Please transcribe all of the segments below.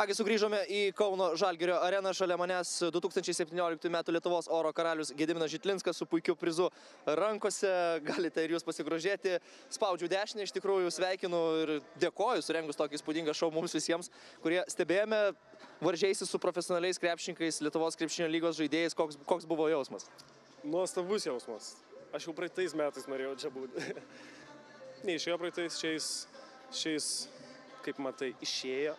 Kągi, sugrįžome į Kauno Žalgirio areną. Šalia manęs 2017 m. Lietuvos oro karalius Gediminas Žitlinskas su puikiu prizu rankose. Galite ir jūs pasigrožėti. Spaudžiu dešinę, iš tikrųjų sveikinu ir dėkoju surengus tokį įspūdingą šou mums visiems, kurie stebėjome, varžėjusi su profesionaliais krepšininkais, Lietuvos krepšinio lygos žaidėjais. Koks buvo jausmas? Nuostabus jausmas. Aš jau praeitais metais norėjau čia būti. Neišėjo praeitais, šiais, kaip matai, išėjo.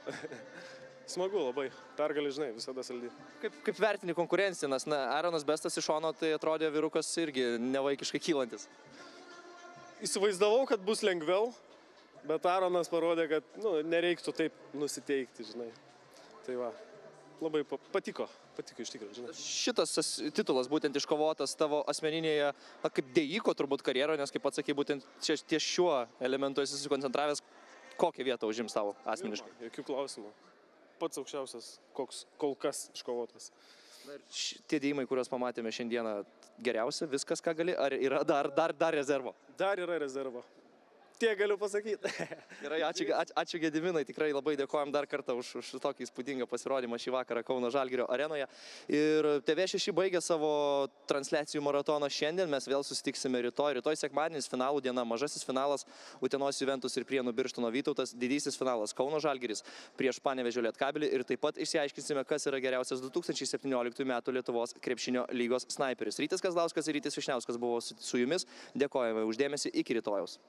Smagu labai. Pergalė, žinai, visada saldi. Kaip vertini konkurenciją, nes Aaronas Bestas iš šono, tai atrodė vyrukas irgi nevaikiškai kylantis. Įsivaizdavau, kad bus lengviau, bet Aaronas parodė, kad nereiktų taip nusiteikti, žinai. Tai va, labai patiko iš tikrųjų, žinai. Šitas titulas būtent iškovotas tavo asmeninėje, kaip dėjiko turbūt karjeroje, nes kaip pats sakei, būtent ties šiuo elementu esi susikoncentravęs, kokią vietą užims tavo asmeniškai? Jokių klausimų. Pats aukščiausias, koks kol kas iškovotas. Tie dėjimai, kuriuos pamatėme šiandieną, geriausia, viskas, ką gali, ar yra dar rezervo? Dar yra rezervo. Tiek galiu pasakyti. Gerai, ačiū Gediminai, tikrai labai dėkojam dar kartą už tokį įspūdingą pasirodymą šį vakarą Kauno Žalgirio arenoje. Ir TV6 baigė savo transliacijų maratoną šiandien, mes vėl susitiksime rytoj. Rytoj sekmadienis, finalų diena, mažasis finalas Utenos Juventus ir Prienų Birštono Vytautas, didysis finalas Kauno Žalgiris prieš Panevėžio Lietkabelį ir taip pat išsiaiškinsime, kas yra geriausias 2017 m. Lietuvos krepšinio lygos snaiperis. Rytis Kazlauskas ir Rytis Vyšniauskas buvo su jumis. Dėkojame už dėmesį, iki rytojaus.